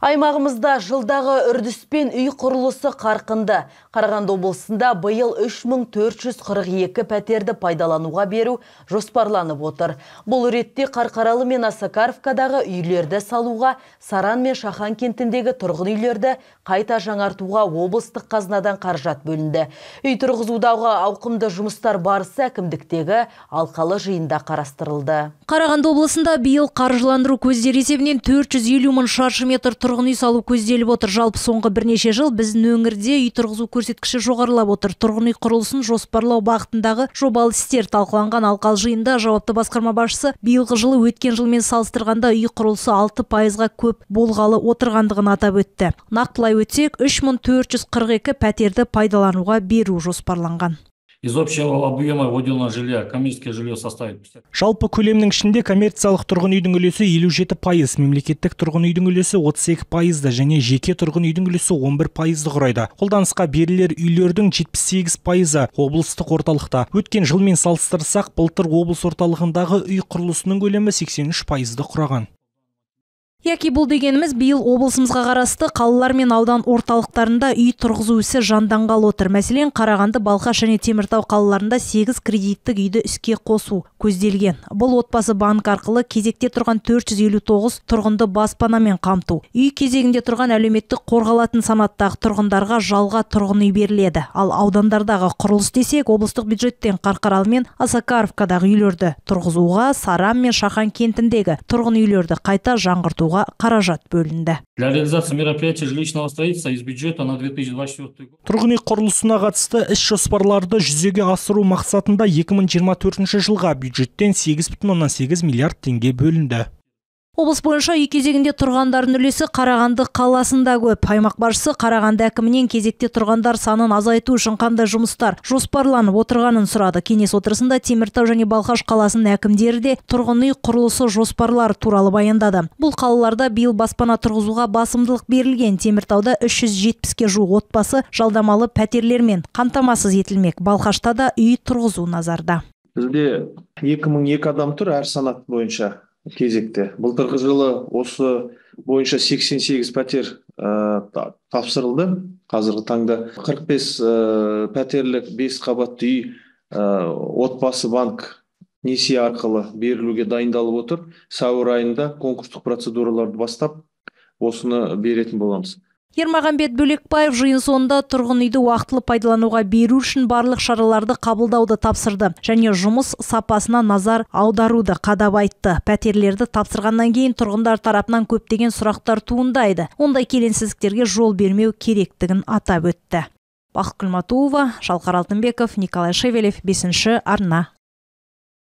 Аймағымызда жылдағы үрдіспен үй құрылысы қарқынды. Қарағанды облысында биыл 3442 пәтерді пайдалануға беру жоспарланып отыр. Бұл ретте Қарқаралы мен Осакаровкадағы үйлерді салуға, Саран мен Шахан кентіндегі тұрғын үйлерді қайта жаңартуға облыстық қазынадан қаражат бөлінді. Үй тұрғызудағы ауқымды жұмыстар барысы әкімдіктегі алқалы жиында қарастырылды. Қарағанды облысында биыл қаржыландыру көздері есебінен 450 мың шаршы метр тұрғын үй салу көзделіп отыр. Жалпы соңғы бірнеше жыл біздің өңірде үй тұрғызу көрсеткіші жоғарылап отыр. Тұрғын үй құрылысын жоспарлау бағытындағы жобалы істер талқыланған алқалы жиында жауапты басқарма басшысы биылғы жылы өткен жылмен салыстырғанда үй құрылысы 6%-ға көп болғалы отырғандығын атап өтті. Нақтылай өтсек, 3442 пәтерді пайдалануға беру жоспарланған. Из общего объема выделенного жилья коммерческое жилье составит 50%. Жалпы көлемнің ішінде коммерциялық тұрғын үйдің үлесі 57%, мемлекеттік тұрғын үйдің үлесі 32%, және жеке тұрғын үйдің үлесі 11%-ды құрайды. Қолданысқа берілер үйлердің 78%-ы облыстық орталықта. Өткен жылмен салыстырсақ, былтыр облыс орталығындағы үй құрылысының көлемі 83%-ды құраған. Яки бұл дегеніміз биыл облысымызға қарасты қалалар мен аудан орталықтарында үй тұрғызу ісі жанданғалы отыр. Мәселен, Қарағанды, Балқаш және Теміртау қалаларында 8 кредиттік үйді іске қосу көзделген. Бұл отбасы банк арқылы кезекте тұрған 459 тұрғынды баспанамен қамту. Үй кезегінде тұрған әлеуметтік қорғалатын санаттағы тұрғындарға жалға тұрғын үй беріледі. Ал аудандардағы құрылыс десек, облыстық бюджеттен Қарқаралы мен Осакаровкадағы үйлерді тұрғызуға, Саран мен Шахан кентіндегі тұрғын үйлерді қайта жаңғыртуға қаражат бөлінді. Для реализации мероприятий жилищного строительства из бюджета на 2024 год. Тұрғын үй құрылысына қатысты іс жоспарларды жүзеге асыру мақсатында 2024 жылға бюджеттен 8,8 миллиард теңге бөлінді. Облыс бойынша үй кезегінде тұрғандардың үлесі Қарағанды қаласында көп. Аймақ басшысы Қарағанды әкімінен кезекте тұрғандар санын азайту үшін қандай жұмыстар жоспарланып отырғанын сұрады. Кеңес отырысында Теміртау және Балқаш қаласының әкімдері де тұрғын үй құрылысы жоспарлары туралы баяндады. Бұл қалаларда биыл баспана тұрғызуға басымдылық берілген. Теміртауда 370-ке жуық отбасы жалдамалы пәтерлермен қамтамасыз етілмек. Балқашта да үй тұрғызу назарда. Бізде 2002 адам тұр әр санат бойынша кезекте. Былтырғы жылы осы бойынша 88 пәтер тапсырылды. Қазіргі таңда 45 пәтерлік 5 қабатты үй отбасы банк несие арқылы берілуге дайындалып отыр. Сәуір айында конкурстық процедураларды бастап, осыны беретін боламыз. Ермағанбет Бөлекбаев жиын соңында тұрғын үйді уақытылы пайдалануға беру үшін барлық шараларды қабылдауды тапсырды және жұмыс сапасына назар аударуды қадап айтты. Пәтерлерді тапсырғаннан кейін тұрғындар тарапынан көптеген сұрақтар туындайды. Ондай келеңсіздіктерге жол бермеу керектігін атап өтті. Бақыт Күлматуова, Шалқар Алтынбеков, Николай Шевелев, 5-ші арна.